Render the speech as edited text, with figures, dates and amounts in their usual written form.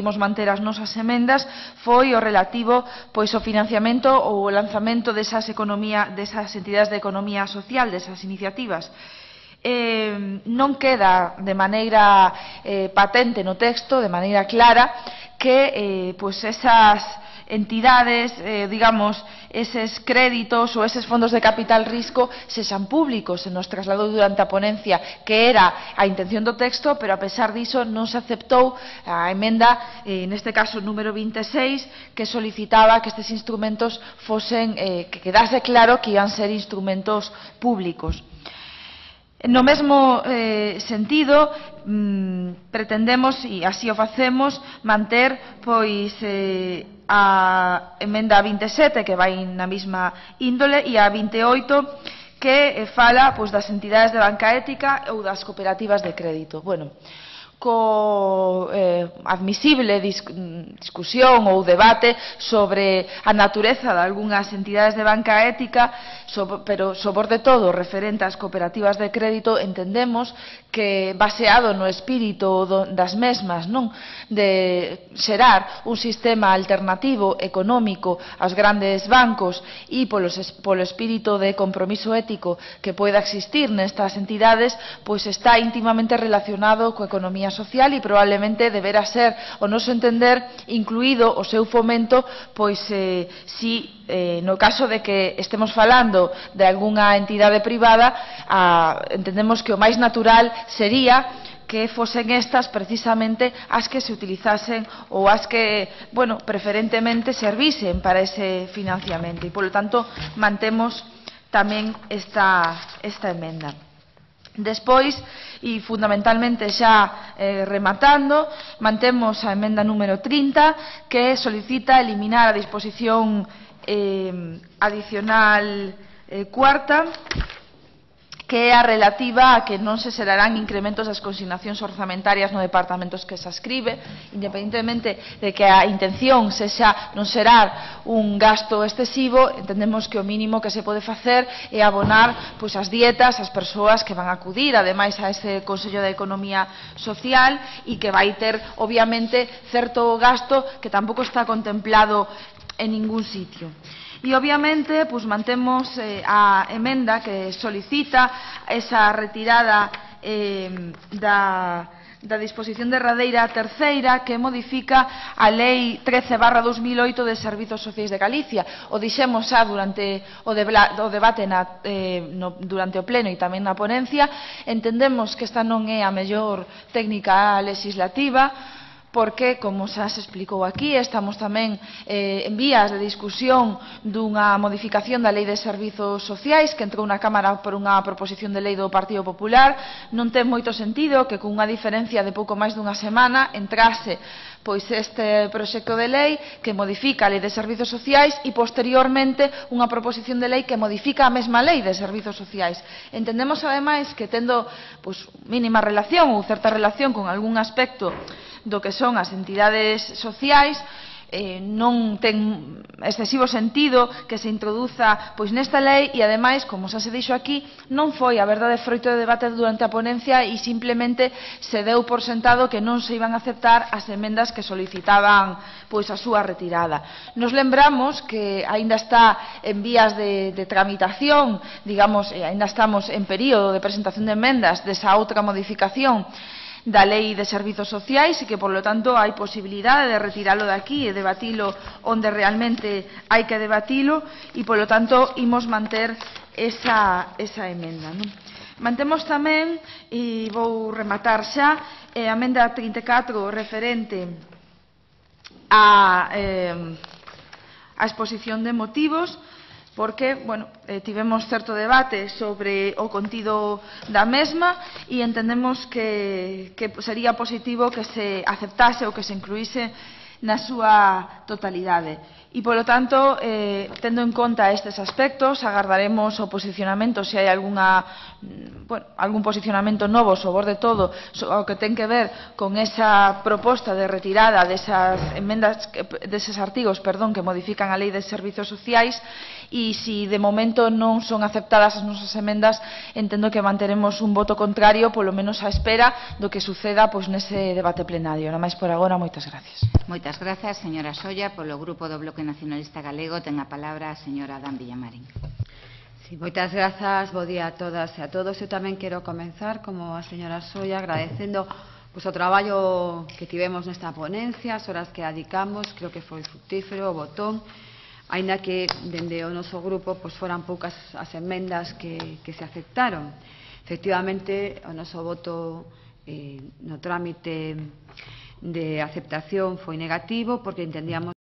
decidimos manter as nosas emendas foi o relativo pois ao financiamento ou o lanzamento desas entidades de economía social, desas iniciativas. Non queda de maneira patente no texto, de maneira clara, que pois esas entidades, digamos, eses créditos ou eses fondos de capital risco sexan públicos. Se nos trasladou durante a ponencia que era a intención do texto, pero a pesar diso non se aceptou a emenda, neste caso número 26, que solicitaba que estes instrumentos fosen, que quedase claro que iban ser instrumentos públicos. No mesmo sentido, pretendemos, e así o facemos, manter pois a emenda 27, que vai na mesma índole, e a 28, que fala pois das entidades de banca ética ou das cooperativas de crédito. Bueno, co admisible discusión ou debate sobre a natureza de algunhas entidades de banca ética, pero sobre todo referente ás cooperativas de crédito, entendemos que baseado no espírito das mesmas, non, de xerar un sistema alternativo económico aos grandes bancos e polo espírito de compromiso ético que poida existir nestas entidades, pois está íntimamente relacionado coa economía social e probablemente deberá ser, o noso entender, incluído o seu fomento, pois si no caso de que estemos falando de algunha entidade privada, entendemos que o máis natural sería que fosen estas precisamente as que se utilizasen ou as que, bueno, preferentemente servisen para ese financiamento, e polo tanto mantemos tamén esta emenda. Despois, e fundamentalmente xa rematando, mantemos a emenda número 30, que solicita eliminar a disposición adicional cuarta, que é a relativa a que non se xerarán incrementos das consignacións orzamentarias no departamentos que se ascribe, independentemente de que a intención sexa non xerar un gasto excesivo. Entendemos que o mínimo que se pode facer é abonar pois as dietas ás persoas que van a acudir, ademais a ese Consello de Economía Social, e que vai ter, obviamente, certo gasto que tampouco está contemplado en ningún sitio. E, obviamente, pues, mantemos a emenda que solicita esa retirada da disposición derradeira terceira que modifica a Lei 13/2008 de Servizos Sociais de Galicia. O dixemos xa durante o debate durante o pleno e tamén na ponencia. Entendemos que esta non é a mellor técnica legislativa, porque, como xa se explicou aquí, estamos tamén en vías de discusión dunha modificación da Lei de Servizos Sociais que entrou na Cámara por unha proposición de lei do Partido Popular. Non ten moito sentido que cunha diferencia de pouco máis dunha semana entrase pois este proxecto de lei que modifica a Lei de Servizos Sociais e posteriormente unha proposición de lei que modifica a mesma Lei de Servizos Sociais. Entendemos ademais que tendo pois mínima relación ou certa relación con algún aspecto do que son as entidades sociais, non ten excesivo sentido que se introduza pois nesta lei, e ademais, como xa se dixo aquí, non foi a verdade froito de debate durante a ponencia e simplemente se deu por sentado que non se iban a aceptar as emendas que solicitaban pois a súa retirada. Nos lembramos que aínda está en vías de tramitación, digamos, aínda estamos en período de presentación de emendas desa outra modificación da Lei de Servizos Sociais, e que, por lo tanto, hai posibilidade de retiralo de aquí e debatilo onde realmente hai que debatilo, e, por lo tanto, imos manter esa emenda, non? Mantemos tamén, e vou rematar xa, a emenda 34 referente a exposición de motivos, porque, bueno, tivemos certo debate sobre o contido da mesma e entendemos que sería positivo que se aceptase ou que se incluíse na súa totalidade. E, polo tanto, tendo en conta estes aspectos, agardaremos o posicionamento, se hai algún posicionamento novo, sobre todo o que ten que ver con esa proposta de retirada desas emendas, deses artigos, que modifican a Lei de Servizos Sociais, e se de momento non son aceptadas as nosas emendas, entendo que manteremos un voto contrario, polo menos á espera do que suceda nese debate plenario. Nada máis por agora, moitas gracias. Moitas grazas, señora Solla. Polo Grupo do Bloque Nacionalista Galego ten a palabra a señora Adán Villamarín. Sí, moitas grazas, bo día a todas e a todos. Eu tamén quero comenzar, como a señora Solla, agradecendo o traballo que tivemos nesta ponencia, as horas que dedicamos, creo que foi fructífero, o botón, aínda que dende o noso grupo foran poucas as emendas que se aceptaron. Efectivamente, o noso voto no trámite de aceptación foi negativo porque entendíamos